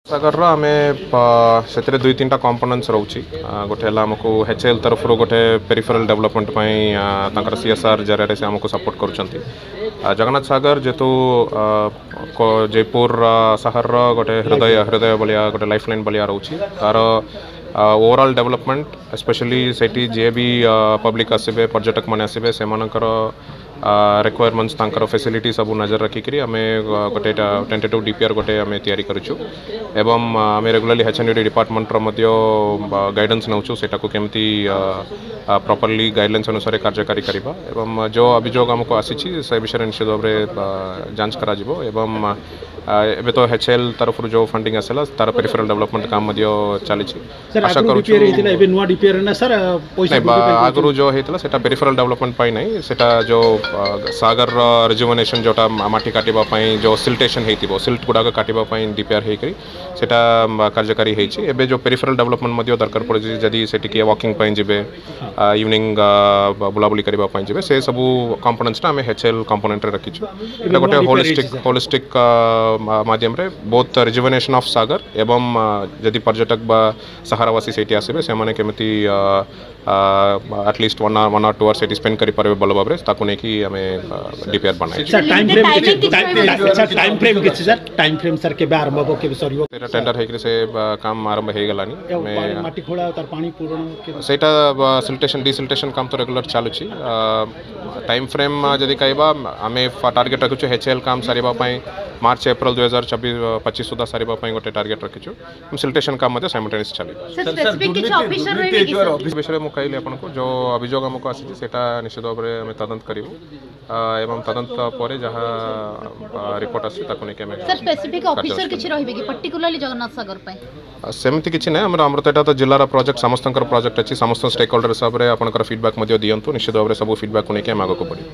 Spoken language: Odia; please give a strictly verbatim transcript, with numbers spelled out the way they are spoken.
ସାଗରର ଆମେ ସେଥିରେ ଦୁଇ ତିନିଟା କମ୍ପୋନେଣ୍ଟସ୍ ରହୁଛି। ଗୋଟେ ହେଲା ଆମକୁ ଏଚ୍ ଏଲ୍ ତରଫରୁ ଗୋଟେ ପେରିଫେରାଲ୍ ଡେଭଲପମେଣ୍ଟ ପାଇଁ ତାଙ୍କର ସି ଏସ୍ ଆର୍ ଜରିଆରେ ସେ ଆମକୁ ସପୋର୍ଟ କରୁଛନ୍ତି। ଜଗନ୍ନାଥ ସାଗର ଯେହେତୁ ଜୟପୁର ସହରର ଗୋଟେ ହୃଦୟ ହୃଦୟ ଭଳିଆ, ଗୋଟେ ଲାଇଫ୍ ଲାଇନ୍ ଭଳିଆ ରହୁଛି, ତାର ଓଭରଅଲ୍ ଡେଭଲପମେଣ୍ଟ, ସ୍ପେଶାଲି ସେଇଠି ଯିଏ ବି ପବ୍ଲିକ୍ ଆସିବେ, ପର୍ଯ୍ୟଟକମାନେ ଆସିବେ, ସେମାନଙ୍କର ରିକ୍ୱାରମେଣ୍ଟସ୍, ତାଙ୍କର ଫେସିଲିଟି ସବୁ ନଜର ରଖିକିରି ଆମେ ଗୋଟେ ଏଇଟା ଟେଣ୍ଟେଟିଭ୍ ଡି ପି ଆର୍ ଗୋଟେ ଆମେ ତିଆରି କରିଛୁ ଏବଂ ଆମେ ରେଗୁଲାରଲି ଏଚ୍ ଏନ୍ ଡି ଡିପାର୍ଟମେଣ୍ଟର ମଧ୍ୟ ଗାଇଡାନ୍ସ ନେଉଛୁ, ସେଇଟାକୁ କେମିତି ପ୍ରପରଲି ଗାଇଡ଼ଲାଇନ୍ସ ଅନୁସାରେ କାର୍ଯ୍ୟକାରୀ କରିବା। ଏବଂ ଯେଉଁ ଅଭିଯୋଗ ଆମକୁ ଆସିଛି, ସେ ବିଷୟରେ ନିଶ୍ଚିତ ଭାବରେ ଯାଞ୍ଚ କରାଯିବ। ଏବଂ ଏବେ ତ ଏଚ୍ ଏଲ୍ ତରଫରୁ ଯେଉଁ ଫଣ୍ଡିଂ ଆସିଲା, ତାର ପେରିଫେରାଲ୍ ଡେଭଲପମେଣ୍ଟ କାମ ମଧ୍ୟ ଚାଲିଛି। ଆଶା କରୁଛୁ ଏବେ ନୂଆ ଡିପିଆର୍ ନା ସାର୍ ପଇସା ଆଗରୁ ଯେଉଁ ହେଇଥିଲା, ସେଟା ପେରିଫେରାଲ୍ ଡେଭଲପମେଣ୍ଟ ପାଇଁ ନାହିଁ। ସେଟା ଯେଉଁ ସାଗରର ରିଜୁଭନେସନ୍, ଯେଉଁଟା ମାଟି କାଟିବା ପାଇଁ ଯେଉଁ ସିଲ୍ଟେସନ୍ ହେଇଥିବ, ସିଲ୍ଟ ଗୁଡ଼ାକ କାଟିବା ପାଇଁ ଡିପିଆର୍ ହେଇକରି ସେଟା କାର୍ଯ୍ୟକାରୀ ହେଇଛି। ଏବେ ଯେଉଁ ପେରିଫେରାଲ୍ ଡେଭଲପମେଣ୍ଟ ମଧ୍ୟ ଦରକାର ପଡ଼ୁଛି, ଯଦି ସେଠି କିଏ ୱାକିଂ ପାଇଁ ଯିବେ, ଇଭିନିଂ ବୁଲାବୁଲି କରିବା ପାଇଁ ଯିବେ, ସେ ସବୁ କମ୍ପୋନେଣ୍ଟସଟା ଆମେ ଏଚ୍ ଏଲ୍ କମ୍ପୋନେଣ୍ଟରେ ରଖିଛୁ। ଏଇଟା ଗୋଟେ ହୋଲିଷ୍ଟିକ୍ ହୋଲିଷ୍ଟିକ୍ ମାଧ୍ୟମରେ ବୋଥ୍ ରିଜୁଭନେସନ୍ ଅଫ୍ ସାଗର ଏବଂ ଯଦି ପର୍ଯ୍ୟଟକ ବା ସହରବାସୀ ସେଇଠି ଆସିବେ, ସେମାନେ କେମିତି at least one one or two hour ସେଠି ସ୍ପେଣ୍ଡ କରିପାରିବେ ଭଲ ଭାବରେ, ତାକୁ ନେଇକି ଆମେ ଡିପିଆର୍ ବନାଇଛୁ। Sir, time frame sir, time frame କିଛି ସାର୍, ଟାଇମ୍ ଫ୍ରେମ୍ ସାର୍, କେବେ ଆରମ୍ଭ ହେବ, କେବେ ସରିବ? ସେଇଟା ଟେଣ୍ଡର ହେଇକରି ସେ କାମ ଆରମ୍ଭ ହେଇଗଲାଣି। ମାଟି ଖୋଳା, ତାର ପାଣି ପୂରଣ? ସେଇଟା ସିଲ୍ଟେସନ୍ ଡିସିଲ୍ଟେସନ୍ କାମ ତ ରେଗୁଲାର ଚାଲୁଛି। ଟାଇମ୍ ଫ୍ରେମ୍ ଯଦି କହିବା, ଆମେ ଟାର୍ଗେଟ୍ ରଖିଛୁ ଏଚ୍ ଏଲ୍ କାମ ସାରିବା ପାଇଁ ମାର୍ଚ୍ଚ ଏପ୍ରିଲ ଦୁଇ ହଜାର ଚବିଶ ପଚିଶ ସୁଦ୍ଧା ସାରିବା ପାଇଁ ଗୋଟେ ଟାର୍ଗେଟ୍ ରଖିଛୁ। ସିଲ୍ଟେସନ୍ କାମ ମଧ୍ୟ ସାଇମଲ୍ଟେନିୟସ୍ ଚାଲିବ। ବିଷୟରେ ମୁଁ କହିଲି ଆପଣଙ୍କୁ, ଯେଉଁ ଅଭିଯୋଗ ଆମକୁ ଆସିଛି, ସେଇଟା ନିଶ୍ଚିତ ଭାବରେ ଆମେ ତଦନ୍ତ କରିବୁ ଏବଂ ତଦନ୍ତ ପରେ ଯାହା ରିପୋର୍ଟ ଆସୁଛି, ତାକୁ ନେଇକି ଆମେ ସେମିତି କିଛି ନାହିଁ। ଆମର ଆମର ତ ଏଇଟା ତ ଜିଲ୍ଲାର ପ୍ରୋଜେକ୍ଟ, ସମସ୍ତଙ୍କର ପ୍ରୋଜେକ୍ଟ ଅଛି। ସମସ୍ତ ଷ୍ଟେକ୍ ହୋଲ୍ଡର ହିସାବରେ ଆପଣଙ୍କର ଫିଡ଼ବ୍ୟାକ୍ ମଧ୍ୟ ଦିଅନ୍ତୁ। ନିଶ୍ଚିତ ଭାବରେ ସବୁ ଫିଡ଼ବ୍ୟାକ୍କୁ ନେଇକି ଆମେ ଆଗକୁ ବଢ଼ିବୁ।